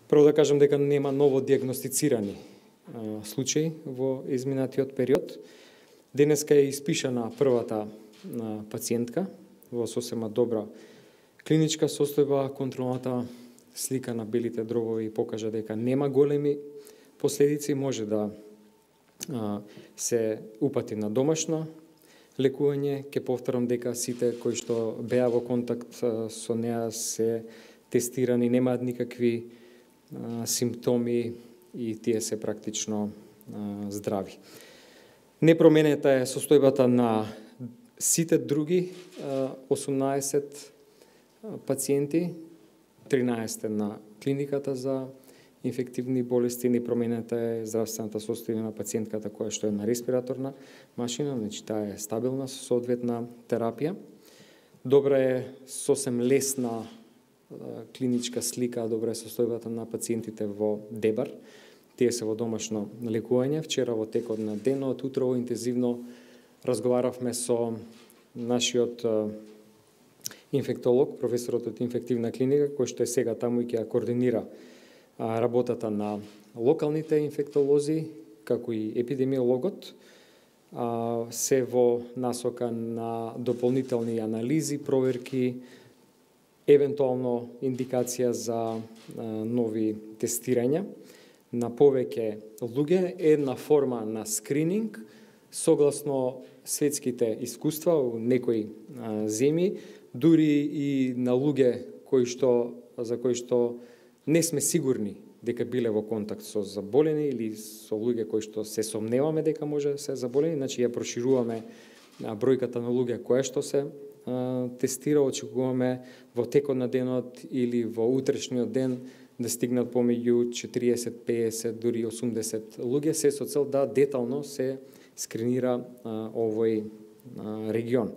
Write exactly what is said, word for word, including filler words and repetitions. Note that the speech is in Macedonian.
Прво да кажам дека нема ново диагностицирани а, случаи во изминатиот период. Денеска е испишана првата а, пациентка во сосема добра клиничка состојба. Контролната слика на белите дробови покажа дека нема големи последици, може да а, се упати на домашно лекување. Ке повторам дека сите кои што беа во контакт а, со неа се тестирани, немаат никакви а, симптоми и тие се практично а, здрави. Непроменета е состојбата на сите други а, осумнаесет пациенти, тринаесет на клиниката за инфективни болести. Непроменета е здравствената состојба на пациентката која што е на респираторна машина, значи таа е стабилна со соодветна терапија. Добра е сосем лесна клиничка слика, добра е состојбата на пациентите во Дебар. Тие се во домашно лекување. Вчера во текот на денот, утрово интензивно разговаравме со нашиот инфектолог, професорот од инфективна клиника, кој што е сега таму и ќе ја координира работата на локалните инфектолози, како и епидемиологот, се во насока на дополнителни анализи, проверки, евентуално индикација за нови тестирања на повеќе луѓе, една форма на скрининг, согласно светските искуства у некои земји, дури и на луѓе кои што, за кои што не сме сигурни дека биле во контакт со заболени или со луѓе кои што се сомневаме дека може да се заболени, значи ја прошируваме бројката на луѓе кои што се а, тестира, очекуваме во текот на денот или во утрешниот ден да стигнат помеѓу четириесет, песет, дури осумдесет луѓе, се со цел да детално се скринира а, овој а, регион.